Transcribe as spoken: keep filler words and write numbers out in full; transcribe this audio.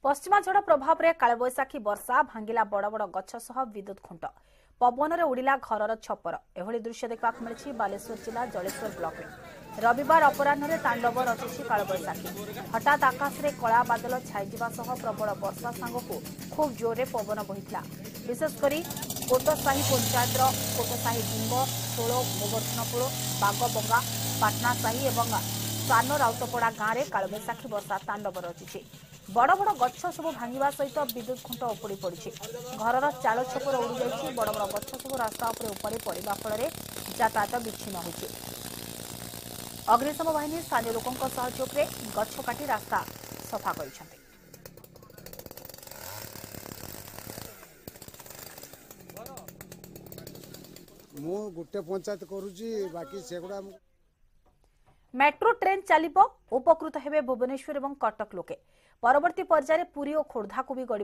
ପଶ୍ଚିମା ଝଡ଼ ପ୍ରଭାବରେ କାଳବୈଶାଖୀ ବର୍ଷା ଭାଙ୍ଗିଲା ବଡ଼ ବଡ଼ ଗଛ ସହ ବିଦ୍ୟୁତ୍ ଖୁଣ୍ଟ, ପବନରେ ଉଡ଼ିଲା ଘରର ଛପର। ଏଭଳି ଦୃଶ୍ୟ ଦେଖିବାକୁ ମିଳିଛି ବାଲେଶ୍ୱର ଜିଲ୍ଲା ଜଳେଶ୍ୱର ବ୍ଲକରେ। ରବିବାର ଅପରାହ୍ନରେ ତାଣ୍ଡବ ରଚିଛି କାଳବୈଶାଖୀ। ହଠାତ୍ ଆକାଶରେ କଳା ବାଦଲ ଛାଇଯିବା ସହ ପ୍ରବଳ ବର୍ଷା ସାଙ୍ଗକୁ ଖୁବ୍ ଜୋରରେ ପବନ ବହିଥିଲା। ବିଶେଷ କରି କୋଟସାହି ପଞ୍ଚାୟତର କୋଟସାହି ଡିଙ୍ଗ, ଷୋଳ, ଗୋବର୍ଦ୍ଧନପୁର, ବାଗବଙ୍ଗା, ପାଟନାସାହି ଏବଂ ସାନ ରାଉତପଡ଼ା ଗାଁରେ କାଳବୈଶାଖୀ ବର୍ଷା ତାଣ୍ଡବ ରଚିଛି। ବଡ଼ ବଡ଼ ଗଛ ସବୁ ଭାଙ୍ଗିବା ସହିତ ବିଦ୍ୟୁତ୍ ଖୁଣ୍ଟ ଉପୁଡ଼ି ପଡ଼ିଛି। ଘରର ଚାଳ ଛପର ଉଡ଼ିଯାଇଛି। ବଡ଼ ବଡ଼ ଗଛ ସବୁ ରାସ୍ତା ଉପରେ ଉପାଡ଼ି ପଡ଼ିବା ଫଳରେ ଯାତାୟାତ ବିଚ୍ଛିନ୍ନ ହୋଇଛି। ଅଗ୍ନିଶମ ବାହିନୀ ସ୍ଥାନୀୟ ଲୋକଙ୍କ ସହଯୋଗରେ ଗଛ କାଟି ରାସ୍ତା ସଫା କରିଛନ୍ତି। ମୁଁ ଗୋଟେ ପଞ୍ଚାୟତ କରୁଛି, ବାକି ସେଗୁଡ଼ା। ମେଟ୍ରୋ ଟ୍ରେନ୍ ଚାଲିବ, ଉପକୃତ ହେବେ ଭୁବନେଶ୍ୱର ଏବଂ କଟକ ଲୋକେ। ପରବର୍ତ୍ତୀ ପର୍ଯ୍ୟାୟରେ ପୁରୀ ଓ ଖୋର୍ଦ୍ଧାକୁ ବି ଗଡ଼ିବ।